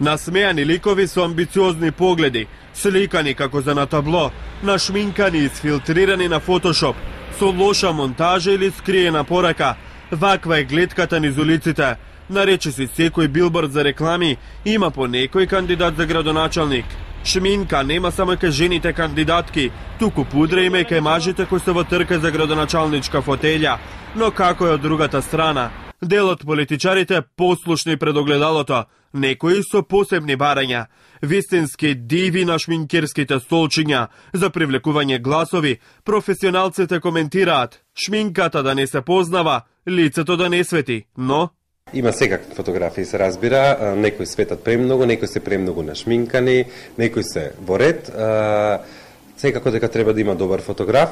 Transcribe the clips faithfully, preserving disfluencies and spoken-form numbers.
Насмејани ликови со амбициозни погледи, сликани како за на табло, нашминкани и сфилтрирани на фотошоп, со лоша монтажа или скриена порака. Ваква е гледката низ улиците. Нарече си секој билборд за реклами има по некој кандидат за градоначалник. Шминка нема само кај жените кандидатки, туку пудра има и кај мажите кои се во трка за градоначалничка фотелја. Но како е од другата страна? Дел од политичарите послушни пред огледалото, некои со посебни барања, вистински диви на шминкерските столчиња за привлекување гласови. Професионалците коментираат: шминката да не се познава, лицето да не свети, но има секакви фотографии, се разбира, некои светат премногу, некои се премногу нашминкани, некои се во ред. Секако дека треба да има добар фотограф,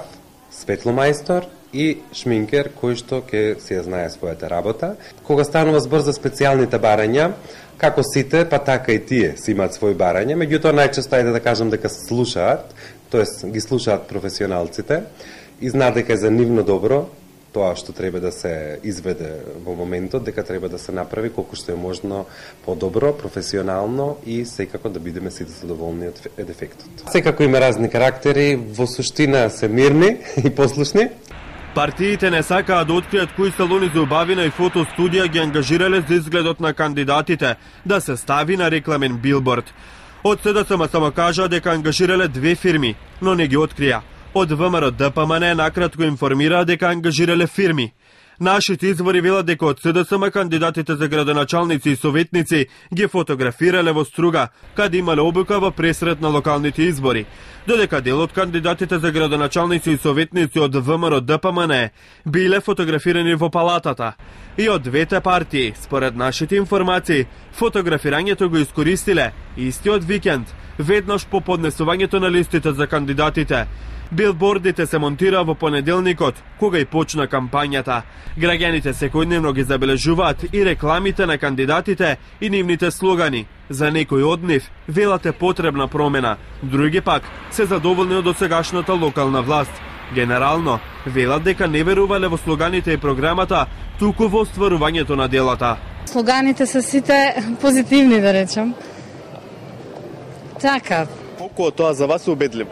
светломајстор и шминкер кој што ќе си ја знае својата работа. Кога станува збор за специјалните барања, како сите, па така и тие си имаат своји барања, меѓутоа најчесто ајде да кажам дека слушаат, тоест ги слушаат професионалците и знаат дека е за нивно добро тоа што треба да се изведе во моментот, дека треба да се направи колку што е можно подобро, професионално и секако да бидеме сите задоволни од ефектот. Секако има разни карактери, во суштина се мирни и послушни. Партиите не сакаат да откријат кои салони за убавина и фотостудија ги ангажирале за изгледот на кандидатите, да се стави на рекламен билборд. Од СДСМ само кажа дека ангажирале две фирми, но не ги открија. Од ВМРО Д П М Н накратко информираа дека ангажирале фирми. Нашите извори велат дека од СДСМ кандидатите за градоначалници и советници ги фотографирале во Струга, каде имале обука во пресрет на локалните избори. Додека дел од кандидатите за градоначалници и советници од ВМРО Д П М Н биле фотографирани во палатата. И од двете партии, според нашите информации, фотографирањето го искористиле истиот викенд, веднаш по поднесувањето на листите за кандидатите. Билбордите се монтира во понеделникот, кога и почна кампањата. Граѓаните секојдневно ги забележуваат и рекламите на кандидатите и нивните слогани. За некој од нив велат е потребна промена, други пак се задоволни од досегашната локална власт. Генерално, велат дека не верувале во слоганите и програмата, туку во остварувањето на делата. Слоганите се сите позитивни, да речем. Така. Колку од тоа за вас е убедливо?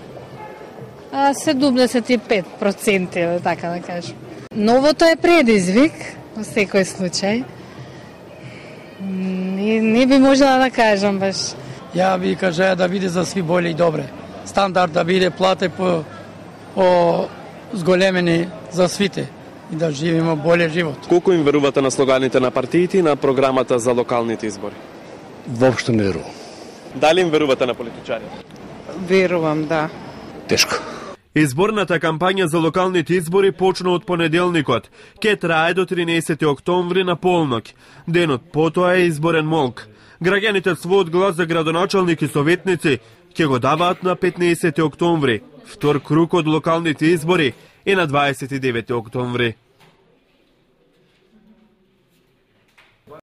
седумдесет и пет проценти, така да кажем. Новото е предизвик, во секој случај. Не, не би можела да кажам баш. Ја би кажа да биде за сви боле и добре. Стандард да биде плате по, по зголемени за свите и да живееме боле живот. Колку им верувате на слоганите на партиите и на програмата за локалните избори? Воопшто не верувам. Дали им верувате на политичарите? Верувам, да. Тешко. Изборната кампања за локалните избори почна од понеделникот. Ке трае до тринаесети октомври на полноќ. Денот потоа е изборен молк. Граѓаните својот глас за градоначалник и советници ќе го даваат на петнаесети октомври. Втор круг од локалните избори е на дваесет и девети октомври.